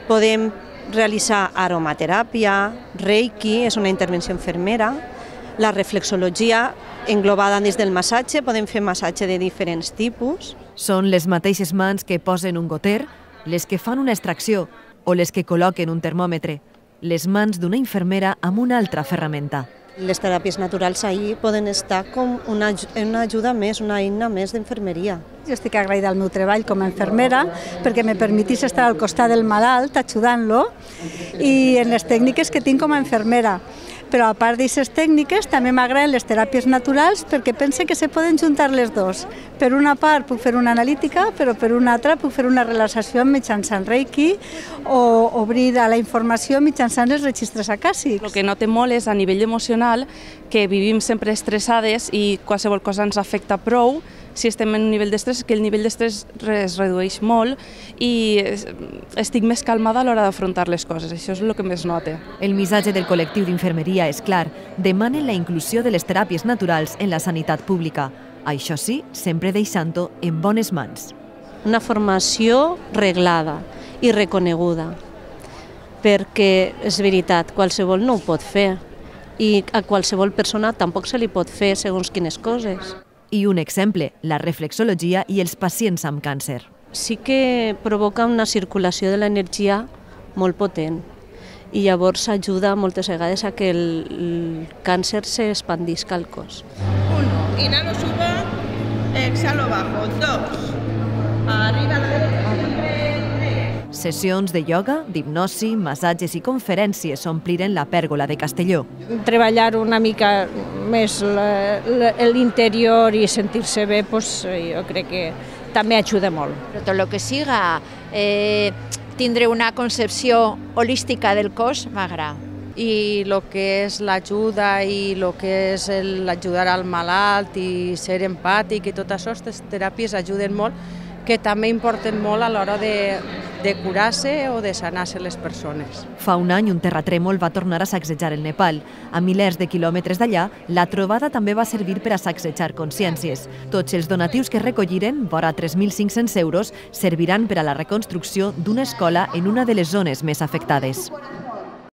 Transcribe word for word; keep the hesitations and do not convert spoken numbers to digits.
Podem realitzar aromateràpia, reiki, és una intervenció infermera, la reflexologia englobada dins del massatge, podem fer massatge de diferents tipus. Són les mateixes mans que posen un goter, les que fan una extracció o les que col·loquen un termòmetre, les mans d'una infermera amb una altra ferramenta. Les teràpies naturals ahir poden estar com una, una ajuda més, una eina més d'infermeria. Jo estic agraïda al meu treball com a infermera perquè me permetís estar al costat del malalt ajudant-lo i en les tècniques que tinc com a infermera. Però a part d'aquestes tècniques també m'agraden les teràpies naturals perquè pense que se poden juntar les dues. Per una part puc fer una analítica, però per una altra puc fer una relaxació mitjançant reiki o obrir a la informació mitjançant els registres acàssics. El que noto molt és a nivell emocional que vivim sempre estressades i qualsevol cosa ens afecta prou. Si estem en un nivell d'estrès, que el nivell d'estrès es redueix molt i estic més calmada a l'hora d'afrontar les coses. Això és el que més note. El missatge del col·lectiu d'infermeria és clar. Demanen la inclusió de les teràpies naturals en la sanitat pública. Això sí, sempre deixant-ho en bones mans. Una formació reglada i reconeguda, perquè és veritat, qualsevol no ho pot fer i a qualsevol persona tampoc se li pot fer segons quines coses. I un exemple, la reflexologia i els pacients amb càncer. Sí que provoca una circulació de l'energia molt potent i llavors ajuda moltes vegades a que el, el càncer s'expandisca al cos. Uno, inhalo, subo, exhalo, bajo. Dos, arriba a la derecha, siempre. Sessions de ioga, d'hipnosi, massatges i conferències ompliren la pèrgola de Castelló. Treballar una mica més l'interior i sentir-se bé, doncs, jo crec que també ajuda molt. Però tot el que siga eh, tindre una concepció holística del cos m'agrada. I el que és l'ajuda i el que és l'ajudar al malalt i ser empàtic i tot això, aquestes teràpies ajuden molt, que també importen molt a l'hora de, de curar-se o de sanar-se les persones. Fa un any un terratrèmol va tornar a sacsejar el Nepal. A milers de quilòmetres d'allà, la trobada també va servir per a sacsejar consciències. Tots els donatius que recolliren, vora tres mil cinc-cents euros, serviran per a la reconstrucció d'una escola en una de les zones més afectades.